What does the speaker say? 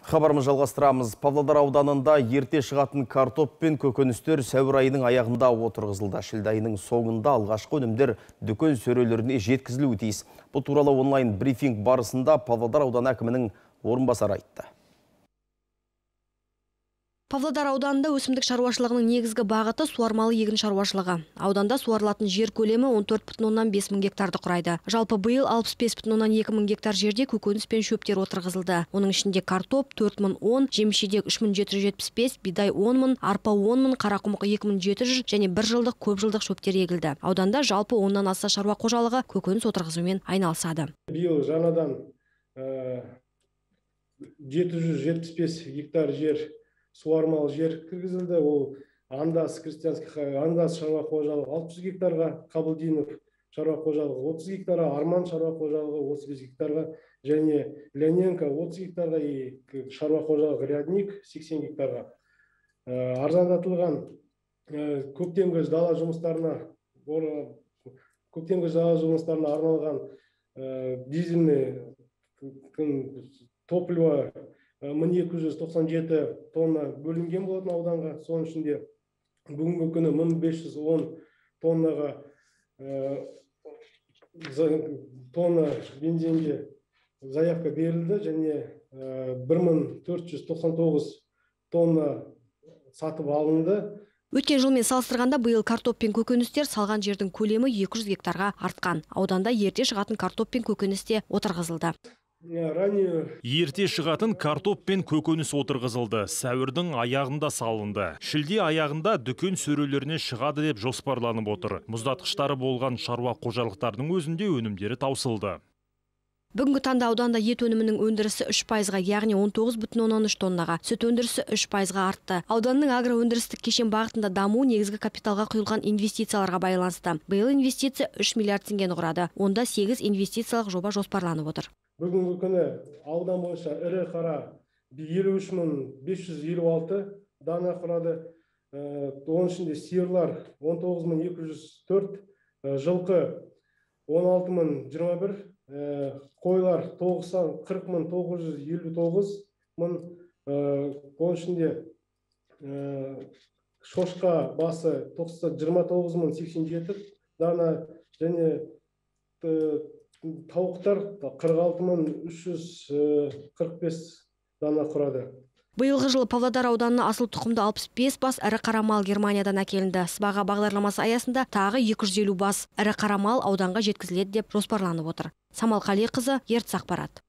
Хабарымыз жалғастырамыз. Павлодар ауданында ерте шығатын картоп пен көкөністер сәуір айының аяғында отырғызылды. Шілде айының соңында алғашқы өнімдер дүкен сөрелеріне жеткізілуі тиіс. Бұл туралы онлайн брифинг барысында Павлодар ауданы әкімінің орынбасары айтты. Павлодар ауданында өсімдік шаруашылығының негізгі бағыты суармалы егін шаруашылығы. Ауданда суарылатын жер көлемі 14,5 мың гектарды құрайды. Жалпы биыл 65,2 мың гектар жерде көкөніс пен шөптер отырғызылды. Оның ішінде картоп 4,010, жеміс-жидек 3775, бидай 10 мың, арпа 10 мың, қарақұмық 2700 және бір жылдық көп жылдық шөптер егілді. Ауданда жалпы 10-нан аса шаруа қожалығы көкөніс отырғызумен айналысады. Биыл жаңадан 775 гектар жер суармалы жер кіргізілді. Ол Андас шаруа қожалығы 600 гектарға, Қабылдинов шаруа қожалығы 30 гектарға, Арман шаруа қожалығы 35 гектарға және Леоненко 30 гектарға, шаруа қожалығы Рядник 80 гектарға. Арзандатылған көктемгі дала жұмыстарына арналған дизельный топливо 1297 тонна бөлінген болатын ауданға. Соның ішінде бүгінгі күні 1510 тоннаға тонна бензинге заявка берілді және 1499 тонна сатып алынды. Өткен жылмен салыстырғанда биыл картоп пен көкөністер салған жердің көлемі 200 гектарға артқан. Ауданда ерте шығатын картоп пен көкөністе отырғызылды. Ерте шығатын картоп пен көкөніс отырғызылды. Сәуірдің аяғында салынды. Шілде аяғында дүкен сөрелеріне шығады деп жоспарланып отыр. Мұздатқыштары болған шаруа қожалықтарының өзінде өнімдері таусылды. Бүгінгі таңда ауданда ет өнімінің өндірісі 3%-ға, яғни 19,13 тоннаға, сүт өндірісі 3%-ға артты. Ауданның агроөндірістік кешен бағытында даму негізгі капиталға құйылған инвестицияларға байланысты. Биыл инвестиция 3 миллиард теңгені құрады. Онда 8 инвестициялық жоба жоспарланып отыр. Бүгінгі күні аудан бойынша ірі қара 53.556 дана құрады. Оның ішінде сиырлар 19.204, жылқы 16.021, қойлар 40.959 мың, оның ішінде шошқа басы 29.087 дана және тауықтар 46.345 дана құрады. Биылғы жылы Павлодар ауданына асыл тұқымды 65 бас ірі қара мал Германиядан әкелінді. Сыбаға бағдарламасы аясында тағы 250 бас ірі қара мал ауданға жеткізіледі деп жоспарланып отыр. Самал Қалиқызы, Ертіс ақпарат.